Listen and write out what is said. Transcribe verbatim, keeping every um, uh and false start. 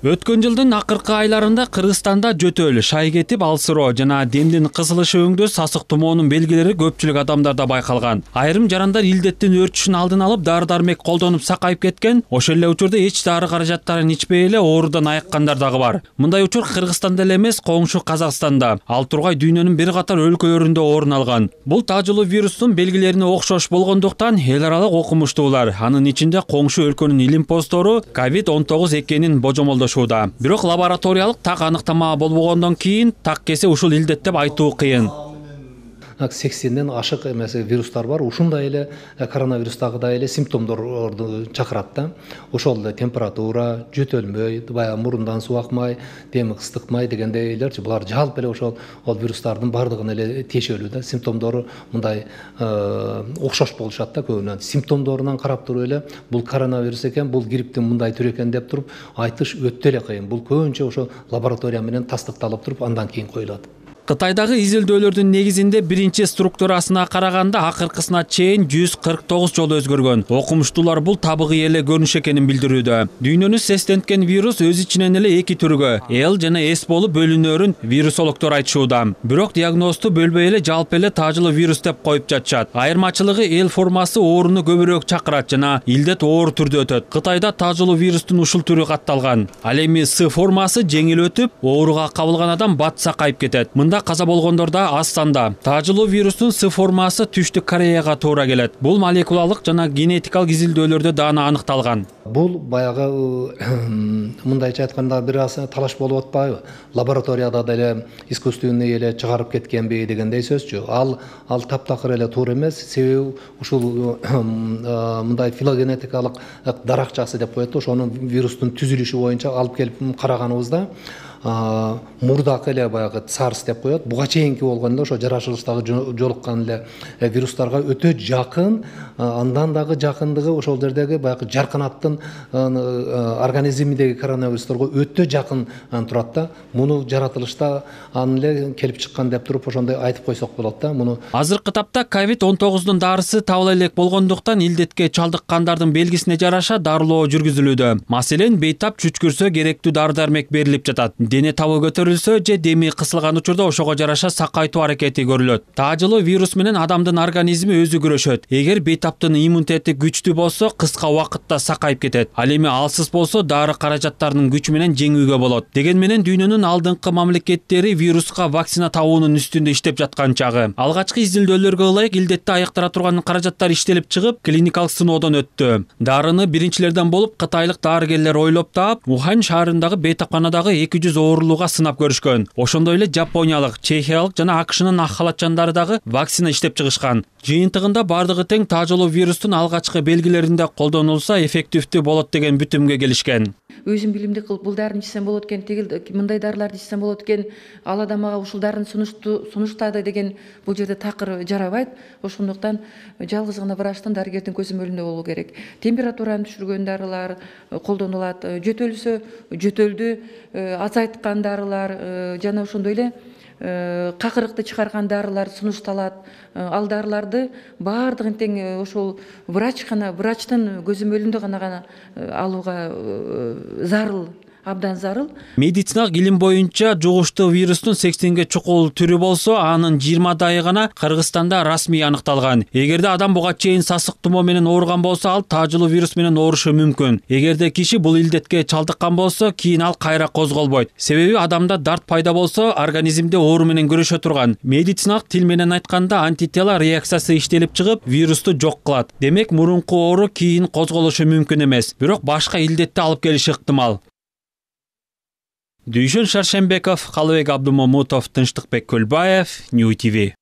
Өткөн жылдын акыркы айларында Кыргызстанда жөтөл, шай кетип, алсыроо жана демдин кысылышы өңдө сасык тумоонун белгилери көпчүлүк адамдарда байкалган. Айрым жарандар илдеттин өрчүшүн алдын алып дары-дармек колдонуп сакайып кеткен, ошол эле учурда эч дары каражаттарын ичпей эле оорудан айыккандар дагы бар. Мындай учур Кыргызстанда эле эмес, коңшу Казакстанда, ал тургай дүйнөнүн бир катар өлкөлөрүндө орун алган. Бул таажылуу вирустун белгилерине окшош болгондуктан эл аралык окумуштуулар, анын ичинде коңшу өлкөнүн илим постору ковид он тогуз экенин божомолдошууда. Бирок лабораториялык так аныктама болбогондон кийин так кесе ушул илдет деп айтуу кыйын. сексенден ашык эмес вирустар бар. Ушундай эле коронавирустагыдай эле симптомдорду чакырат да. Ошол эле температура, жөтөлмөй, баягы мурундан суу акмай, деми ыстыкмай дегендейлерчи, булар жалпы эле ошол ол вирустардын бардыгын эле тиешелүү да. Симптомдору мындай окшош болушат да көбүнөн. Симптомдорунан карап туруп эле бул коронавирус экен, бул грипптин мындай түрү экен деп туруп айтыш өтө эле кыйын. Бул көбүнчө ошо лаборатория менен тастыкталып туруп андан кийин коюлат. Кытайдагы изилдөөлөрдүн негизинде биринчи структурасына караганда акыркысына чейин жүз кырк тогуз жолу өзгөргөн. Окумуштуулар бул табыгый эле көрүнүш экенин билдирүүдө. Дүйнөнү сестенткен вирус өз ичинен эле эки түргө, L жана S болуп бөлүнөрүн вирусологдор айтышууда. Бирок диагнозду бөлбөй эле жалпы эле таажылуу вирус деп коюп жатышат. Айырмачылыгы L формасы ооруну көбүрөөк чакырат жана илдет оор түрдө өтөт. Кытайда таажылуу вирустун ушул түрү катталган. Ал эми S формасы жеңил өтүп, ооруга кабылган адам бат сакайып кетет. Каза болгондор да аз санда. Таажылуу вирустун С формасы Түштүк Кореяга туура келет. Бул молекулалык жана генетикалык изилдөөлөрдө даана аныкталган. Бул баягы мындайча айтканда бир аз талаш болуп атпайбы? Лабораторияда деле искусственный эле чыгарып кеткенби дегендей сөзчү. Ал ал таптакыр эле туура эмес. Себеби ушул мындай филогенетикалык даракчасы деп коет. Ошонун вирустун түзүлүшү боюнча алып келип караганыбызда мурдакы эле баягы SARS деп коет. Буга чейинки болгондо ошо жаратылыштагы жолуккан эле вирустарга өтө жакын, андан дагы жакындыгы ошол жердеги баягы жарканаттын организминдеги коронавирусторго өтө жакын турат да. Муну жаратылышта аны эле келип чыккан деп туруп ошондой айтып койсок болот да. Муну азыркы тапта ковид он тогуздун дарысы табыла элек болгондуктан илдетке чалдыккандардын белгисине жараша дарылоо жүргүзүлүүдө. Маселен, бейтап чүчкүрсө керектүү дары-дармек берилип жатат. Дене табы көтөрүлсө же деми кысылган учурда ошого жараша сакайтуу аракети көрүлөт. Таажылуу вирус менен адамдын организми өзү күрөшөт. Эгер бейтаптын иммунитети күчтүү болсо, кыска убакытта сакайып кетет. Ал эми алсыз болсо, дары каражаттарынын күчү менен жеңүүгө болот. Деген менен дүйнөнүн алдыңкы мамлекеттери вируска вакцина табуунун үстүндө иштеп жаткан чагы. Алгачкы изилдөөлөргө ылайык илдетти айыктыра турган каражаттар иштелип чыгып, клиникалык сыноодон өттү. Дарыны биринчилерден болуп кытайлык дарыгерлер ойлоп таап, Ухань шаарындагы бейтапканадагы эки жүз оорулууга сынап көрүшкөн. Ошондой эле Жапониялык, Чехиялык жана АКШнын ак халатчандары дагы вакцина иштеп чыгышкан. Жыйынтыгында бардыгы тең таажылуу вирустун алгачкы белгилеринде колдонулса эффективдүү болот деген бүтүмгө келишкен. Өзүм билимди кылып бул дарыны ичсем болот экен, тигил мындай дарыларды ичсем болот экен, ал адам мага ушул дарыны сунуштады деген бул жерде такыр жарабайт. Ошондуктан жалгыз гана врачтын, дарыгердин көзөмөлүндө болуу керек. Температураны түшүргөн дарылар колдонулат, жөтөлсө жөтөлдү азайткан дарылар жана ошондой эле какырыкты чыгарган дарылар сунушталат. Ал дарыларды баардыгын тең ошол врач гана, врачтын көзөмөлүндө гана гана алууга зарыл. Абдан зарыл. Медициналык илим боюнча жугуштуу вирустун сексенге чукул түрү болсо, анын жыйырмадайы гана Кыргызстанда расмий аныкталган. Эгерде адам буга чейин сасык тумоо менен ооруган болсо, ал таажылуу вирус менен оорушу мүмкүн. Эгерде киши бул илдетке чалдыккан болсо, кийин ал кайра козголбойт. Себеби адамда дарт пайда болсо, организмде оору менен күрөшө турган. Медициналык тил менен айтканда антитела реакциясы иштелип чыгып, вирусту жок кылат. Демек, мурунку оору кийин козголушу мүмкүн эмес. Бирок башка илдетти алып келиши ыктымал. Дүйшөн Шаршембеков, Калыбек Абдумамутов, Тынчтыкбек Көлбаев, Нью ти ви.